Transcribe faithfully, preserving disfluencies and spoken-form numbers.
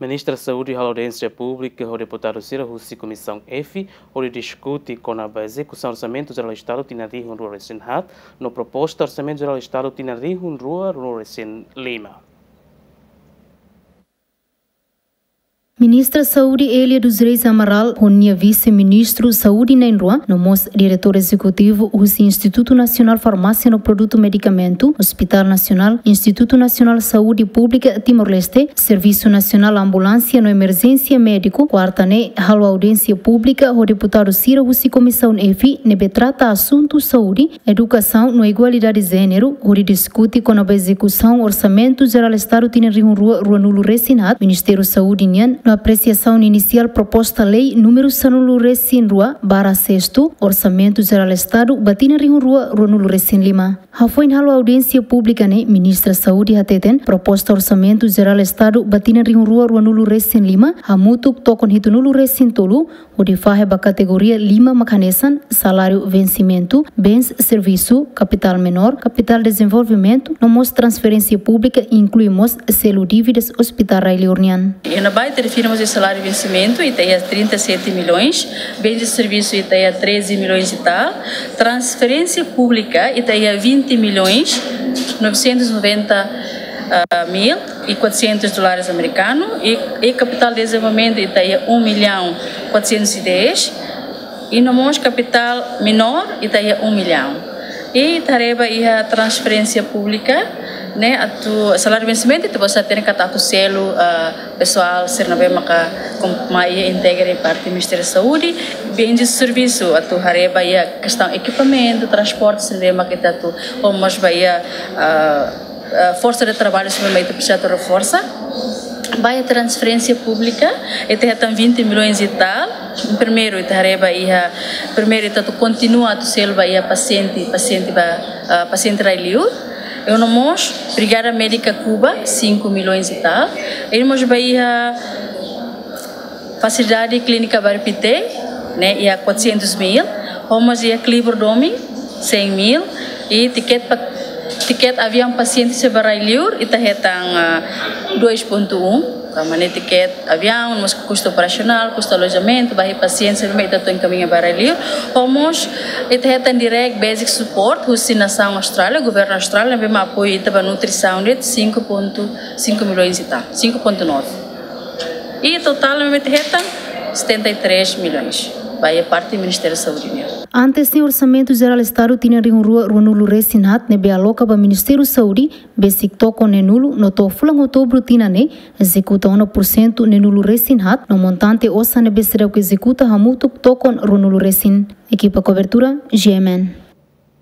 Ministra Saúde halo audiénsia públika ho deputadu sira husi Komisaun F, hodi diskute kona-ba ezekusaun Orsamentu Jerál Estadu tinan rihun rua resin haat, no proposta Orsamentu Jerál Estadu tinan rihun rua rua resin lima. Ministra Saúde Elia dos Reis Amaral, ho nia vise-ministru Saúde na'in-rua, no mós diretór ezekutivu husi Institutu Nasionál Farmásia no Produtu Medikamentu, Hospital Nasionál, Institutu Nasionál Saúde Públika Timor-Leste, Servisu Nasionál Ambulánsia no Emerjénsia Médiku, kuarta ne'e halo audiénsia públika ho deputadu sira husi Komisaun F ne'ebé trata asuntu saúde, edukasaun no igualdade jéneru, hodi diskute kona-ba ezekusaun Orsamentu Jerál Estadu tinan rihun rua rua-nulu resin haat Ministériu Saúde nian, no apresiasaun inisiál proposta lei númeru sanulu resin rua barra sestu, Orsamentu Jerál Estadu ba tinan rihun rua rua-nulu resin lima. Hafoin halo audiénsia públika ne'e, Ministra Saúde hateten, proposta Orsamentu Jerál Estadu ba tinan rihun rua rua-nulu resin lima, hamutuk tokon hitunulu resin tolu, hodi fahe ba kategoria lima mak hanesan: saláriu vensimentu, bens servisu, kapitál menór, kapitál dezenvolvimentu, no mós transferénsia públika, inklui mós selu dívidas Hospital Rai Liur nian. E na baita refirma de saláriu vensimentu, ita iha trinta e sete milhões, bens de serviço, ita iha treze milhões e tal, transferénsia públika, ita iha vinte milhões novecentos e noventa mil e quatrocentos dólares americanos, e, e kapitál dezenvolvimentu, ita iha um milhão quatrocentos e dez, e no mós kapitál menór, ita iha um milhão. E ita haree ba iha transferénsia públika, ne'e, atu saláriu vensimentu, ita bele hatene katak atu selu, ah, pesoál sira ne'ebé maka kom-, mai iha integra iha parte Ministériu Saúde, bens de servisu, atu haree ba iha kestaun ekipamentu, transporte sira ne'ebé maka ita atu, ho mós ba iha, ah, ah, forsa de traballu sira ne'ebé ita presiza atu reforsa. Ba iha transferénsia públika, ita hetan vinte milhões e tal. Primeiru, ita haree ba iha, primeiru, ita atu kontinua atu selu ba iha pasiente, pasiente ba, ah, pasiente Rai Liur. E no mós Brigada Médika Cuba, cinco milhões e tal. E mós ba iha fasilidade klínika Bairru Pité, ne'e, iha quatrocentos mil, ho mós iha Klibur Domin, cem mil, e tiket pa-, tiket aviaun pasiente sira ba Rai Liur, ita hetan, ah, dois ponto um, tanba ne'e tiket aviaun, mós kustu operasionál, kustu alojamentu, ba iha pasiente sira ne'ebé ita atu enkamiña ba Rai Liur, ho mós ita hetan direct basic support husi nasaun Austrália, governu Austrália, ne'ebé mak apoia ita ba nutrisaun de'it cinco ponto cinco milhões e tal, cinco ponto nove. E totál ne'ebé mak ita hetan setenta e três milhões ba iha parte Ministériu Saúde nian. Antes ne'e, Orsamentu Jerál Estadu tinan rihun rua rua-nulu resin haat ne'ebé aloka ba Ministériu Saúde besik tokon neenulu, no to'o fulan Outubru tinan ne'e ezekuta ona pursentu neenulu resin haat, no montante osan ne'ebé seidauk ezekuta hamutuk tokon ruanulu resin. Ekipa kobertura, G M N.